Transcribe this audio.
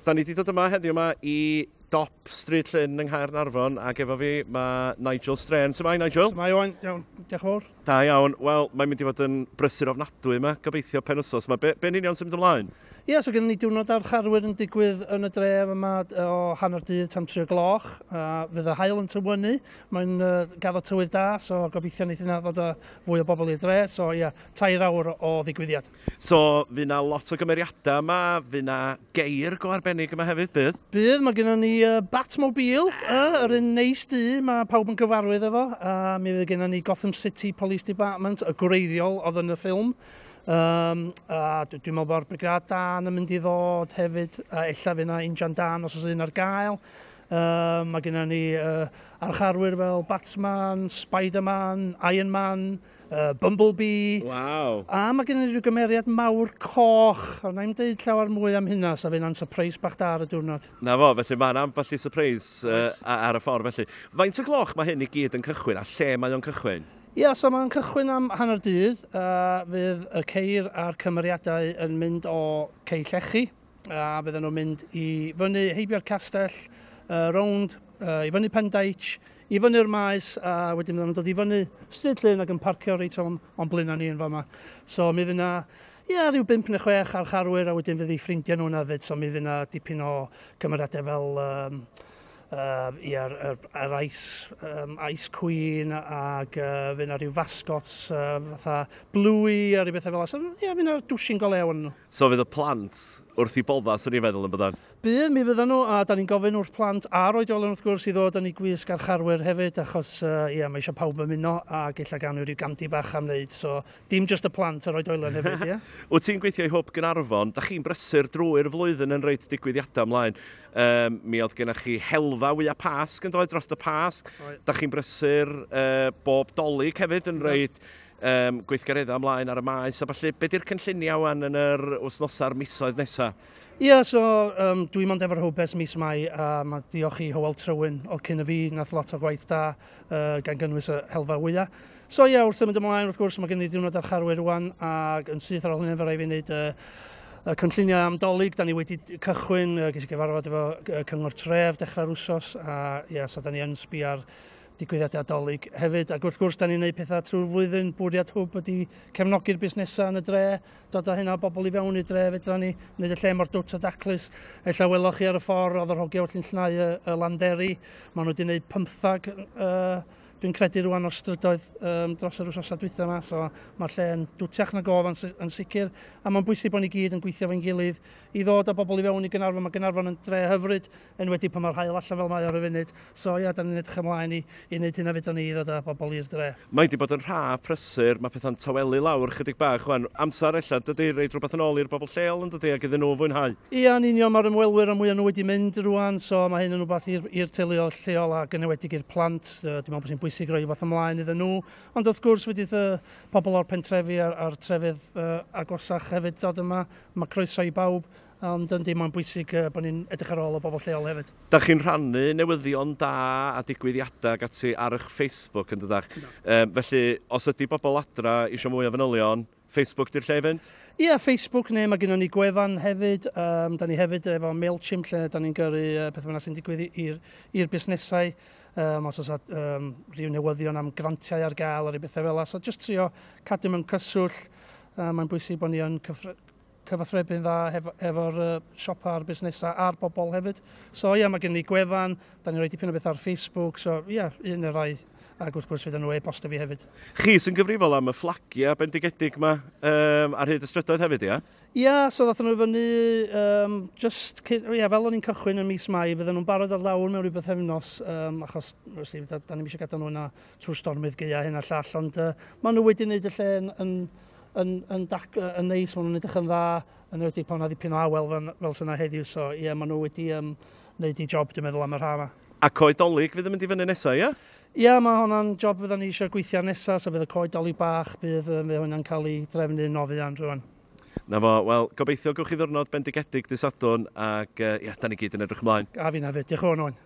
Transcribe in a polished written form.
Da ni wedi dod yma heddiw yma i dop Stryd Llyn yng Nghaernarfon, ac efo fi mae Nigel Strain. Sut mae, Nigel? Mae Owain, iawn, diolch yn fawr. Da iawn. Wel, mae'n mynd i fod yn brysur ofnadwy yma, gobeithio penwsos. Mae be yn union sy'n mynd ymlaen? Ie, yeah, so gennym ni diwrnod archarwyr yn digwydd yn y dref yma o hanner dydd tan 3 gloch. Fydd y haul yn tywynnu, mae'n gaddo tywydd da, so gobeithio wneith yna ddod â fwy o bobl i'r dre. So ie, yeah, 3 awr o ddigwyddiad. So, fydd na lot o gymeriadau yma, fydd na geir go arbennig yma hefyd, bydd? Bydd, mae gennym ni Batmobile, yr un neis du, mae pawb yn gyfarwydd efo. Mi fydd gennym ni Gotham City Police Department, y gwreiddiol oedd yn y ffilm. A dwi'n meddwl bod Brigâd Dân yn mynd i ddod hefyd, a ella fydd yna injan dân os oes un ar gael. Mae gennym ni archarwyr fel Batman, Spider-Man, Iron Man, Bumblebee. Waw. A mae gennym ni rhyw gymeriad mawr coch. A na i'm deud llawer mwy am hynna, so fydd yna'n surprise bach da ar y diwrnod. Na fo, felly mae'n ambell i surprise ar y ffordd felly. Faint o gloch mae hyn i gyd yn cychwyn a lle mae o'n cychwyn? Ia, yeah, so mae'n cychwyn am hanner dydd. Fydd y ceir a'r cymeriadau yn mynd o Cei Llechi. A fydden nhw'n mynd i fyny heibio'r castell, rownd, i fyny Pendeitch, i fyny'r maes, a wedyn fydden nhw'n dod i fyny Stryd Llyn ac yn parcio reit o'n blaenau ni yn fama. So mi fydd yna, ia, rhyw bump neu chwech archarwyr, a wedyn fydd eu ffrindiau nhw'n hefyd, so mi fydd yna dipyn o cymeriadau fel ia, yr Ice Queen ac fydd yna rhyw mascots fatha Bluey a rhyw bethau fel yna. So, ia, fydd yna dwsin go lew yn nhw. So fydd y plant wrth i bodda, swn i'n feddwl yn byddan? Bydd, mi fyddan nhw, a da ni'n gofyn wrth plant a'r oedolion wrth gwrs i ddod yn ei gwisg archarwyr hefyd, achos ia, mae eisiau pawb ymuno a gella gael nhw rhyw gandi bach am wneud. So, dim just y plant, yr oedolion hefyd, ie. Wyt ti'n gweithio i Hwb Gaernarfon, da chi'n brysur drwy'r flwyddyn yn rhoid digwyddiadau ymlaen. Mi oedd gennych chi helfa wyau Pasg yn dod dros y Pasg. Oedd. Da chi'n brysur bob Dolig hefyd yn rhoid gweithgareddau ymlaen ar y maes. A falle, be di'r cynlluniau wan yn yr wythnosau'r misoedd nesaf? Ie, yeah, so dwi'n mond efo'r Hwb ers mis Mai, a mae diolch i Hywel Trywyn oedd cyn y fi, nath lot o gwaith da, gan gynnwys y helfa wyau. So ie, yeah, wrth symud ymlaen, wrth gwrs, mae gen i diwrnod archarwyr rwan, ac yn syth ar ôl hynny, fe rai fi wneud y cynlluniau am Dolig. Da ni wedi cychwyn, ges i gyfarfod efo Cyngor Tref dechrau'r wsos, a ie, yeah, so da ni yn sbio ar digwyddiadau Dolig hefyd. Ac wrth gwrs, da ni'n gwneud pethau trwy'r flwyddyn. Bwriad Hwb ydy cefnogi'r busnesau yn y dre, dod â hynna o bobl i fewn i'r dre, fedra ni wneud y lle mor dwt a daclus. Ella weloch chi ar y ffordd, oedd yr hogia wrthi'n llnau y landeri. Maen nhw wedi gwneud 15, dwi'n credu rwan o'r strydoedd dros yr wythnosau dwytha yma, so mae'r lle yn dwtiach nag oedd yn sicr, a mae'n bwysig bod ni gyd yn gweithio efo'n gilydd i ddod â bobl i fewn i Gaernarfon. Mae Gaernarfon yn dre hyfryd, enwedig pan mae'r haul allan fel mae ar y funud. So ia, da ni'n edrych ymlaen i wneud hynna fedra ni i ddod â bobl i'r dre. Mae wedi bod yn rha prysur, mae pethau'n tawelu lawr chydig bach wan. Amser ella, dydy, rhoid rhywbeth yn ôl i'r bobl lleol yn dydy, ac iddyn nhw fwynhau. Ia, yn union, mae'r ymwelwyr a mwy o nhw wedi mynd rwan, so mae hyn yn rhywbeth i'r teuluoedd lleol ac yn enwedig i'r plant. Dwi'n meddwl bod hi'n bwysig rhoi rhywbeth ymlaen iddyn nhw. Ond wrth gwrs, fydd y pobl o'r pentrefi a'r trefydd agosach hefyd dod yma. Mae croeso i bawb, ond yndi, mae'n bwysig bod ni'n edrych ar ôl y bobl lleol hefyd. Da chi'n rhannu newyddion da a digwyddiadau ac ati ar eich Facebook yn dydach? Felly, os ydy bobl adra eisiau mwy o fanylion, Facebook di'r lle i fynd? Ie, yeah, Facebook neu mae gennym ni gwefan hefyd. Da ni hefyd efo MailChimp lle da ni'n gyrru pethau bynnag sy'n digwydd i'r busnesau. Os oes rhyw newyddion am grantiau ar gael a rhyw bethau fel 'na. So just trio cadw mewn cyswllt. Mae'n bwysig bod ni yn cyfathrebu'n dda efo'r siopa a'r busnesau a'r bobl hefyd. So ie, yeah, mae gen ni gwefan, da ni'n rhoi dipyn o beth ar Facebook, so ie, yeah, un o'r rai, ac wrth gwrs fydd nhw e-bostio fi hefyd. Chi sy'n gyfrifol am y fflagiau bendigedig yma ar hyd y strydoedd hefyd, ia? Ia, yeah, so ddathon nhw fyny, just, ia, fel o'n i'n cychwyn yn mis Mai, fydden nhw'n barod ar lawr mewn rhyw bythefnos, achos wrth da ni'n eisiau gadael nhw yna trwy'r stormydd gaea hyn a llall, ond maen nhw wedi gwneud y lle yn neis, maen nhw'n edrych yn dda, yn enwedig pan 'na ddipyn o awel fel sy'n heddiw, so ie, yeah, maen nhw wedi wneud i job, dwi'n meddwl, am yr ha yma. A coed Dolig fydd yn mynd i fyny nesaf, ia? Ia, mae hwnna'n job fyddan ni eisiau gweithio ar nesaf, so fydd y coed Dolig bach, fydd hwnna'n cael ei drefnu yn fuan rwan. Na fo, wel, gobeithio gewch chi ddwrnod bendigedig dy Sadwrn, ac ia, da ni gyd yn edrych ymlaen. A fi na fyd, diolch yn fawr, Owen.